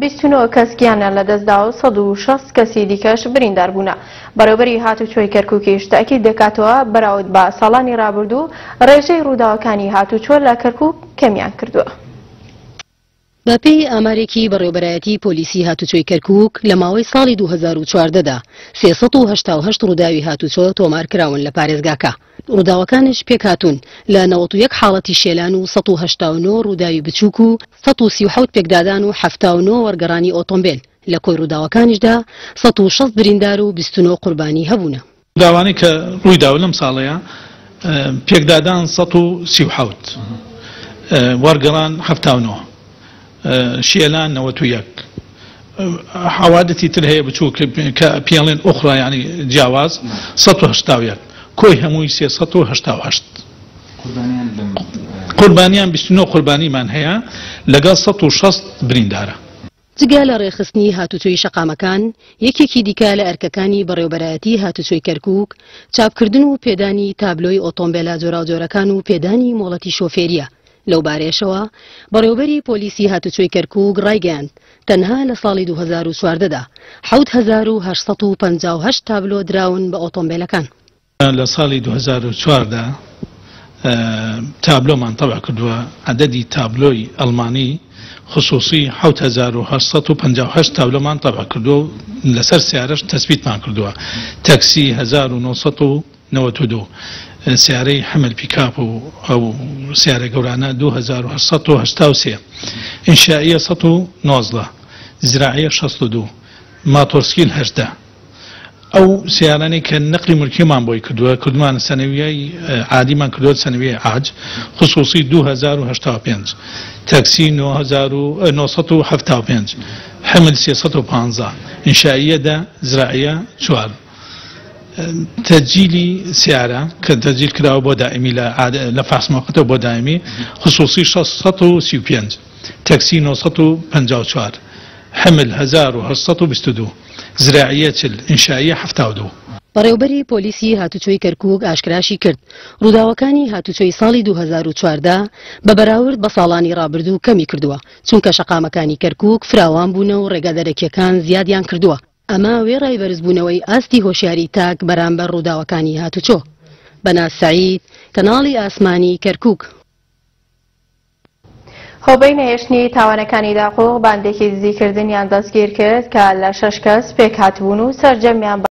29 کەس گیانیان لەدەستدا و 160 کەسی دیکەش بریندار بوونە. بەڕێوەبەری هاتوچۆی کەرکوکیش تەئکید دەکاتەوە بەراورد بە ساڵانی رابردوو رێژەی رووداوەکانی هاتوچۆ لە کەرکوک کەمیان کردووە. بەپێی ئامارێکی بەڕێوەبەرایەتی پۆلیسی هاتوچۆی کەرکوک، لە ماوەی ساڵی 2014 دا 388 ڕووداوی هاتوچۆ تۆمارکراون لە پارێزگاکە، ڕووداوەکانیش پێکهاتوون لە 91 حاڵەتی شێلان و 189 ڕووداوی بچووک و 137 پێکدادان و 79 وەرگەڕانی ئۆتۆمبێل، لە کۆی ڕووداوەکانیشدا 160 بریندار و 29 قوربانی هەبوونە. ڕووداوانەی کە ڕوویداوە لەم ساڵەیا پێکدادان 137، وەرگەڕان 79، شێلان 91، حەوادثی تر هەیە بچووک کە پێڵێن ئوخرا یانی جیاواز 181، کۆی هەمووی 388. قوربانیان 29 قوربانیمان هەیە لەگەڵ 160 بریندارە. جگە لە ڕێکخستنی هاتوچۆی شەقامەکان، یەکێکی دیکە لە ئەرکەکانی بەڕێوەبەرایەتی هاتوچۆی کەرکوک، چاپکردن و پێدانی تابلۆی ئۆتۆمبێلە جۆراوجۆرەکان و پێدانی مۆڵەتی شۆفێرییە، لەوبارەیەشەوە بەڕێوەبەری پۆلیسی هاتوچۆی کەرکوک ڕایگەیاند، تەنها لە ساڵی 2014 دا 7858 تابلۆ دراون بە ئۆتۆمبێلەکان. لە ساڵی 2004 دا تابلۆمان تەبع کردووە، عەدەدی تابلۆی ئەڵمانی خسوسی 7858 تابلۆمان تەبع کردووە و لەسەر سیارەش تەسبیتمان کردووە، تەکسی 1992، سیارەی حمل پیکاپ و ئەو سیارە گەورانە 2883، ئینشائیە 119، زراعیە 62، ماتۆرسکیل 18. ئەو سەیارانەی کە نەقلی مولکیمان بۆی کردووە کردومانە سەنەویەی عادیمان کردووە سەنەویەی عاج خصوصی 2085 تەکسی 9975 حمل 315 ئینشائیە دە زراعیە چوار تەجیلی سیارە کە تەجیل کراوە بۆ دائمی لە لە فاس موقتەوە بۆ دائمی خصوصی 635 تەکسی 954 حمل 1822 زراعیە 40، ئینشائیە 72. بەڕێوبەری پۆلیسی هاتوچۆی کەرکوک ئاشکراشی کرد، ڕووداوەکانی هاتوچۆی ساڵی 2014 بە بەراورد بە ساڵانی ڕابردوو کەمی کردووە، چونکە شەقامەکانی کەرکوک فراوان بوونە و ڕێگا دەرەکییەکان زیادیان کردووە، ئەمە وێڕای بەرزبوونەوەی ئاستی هۆشیاری تاک بەرامبەر ڕووداوەکانی هاتوچۆ. بەناز سەعید، کەناڵی ئاسمانی کەرکوک. هۆبەی نەهێشتنی تاوانەکانی داقوق باندێکی دزیکردنیان دەستگیرکرد کە لە شەش کەس پێکهاتبوون و سەرجەمیان بە.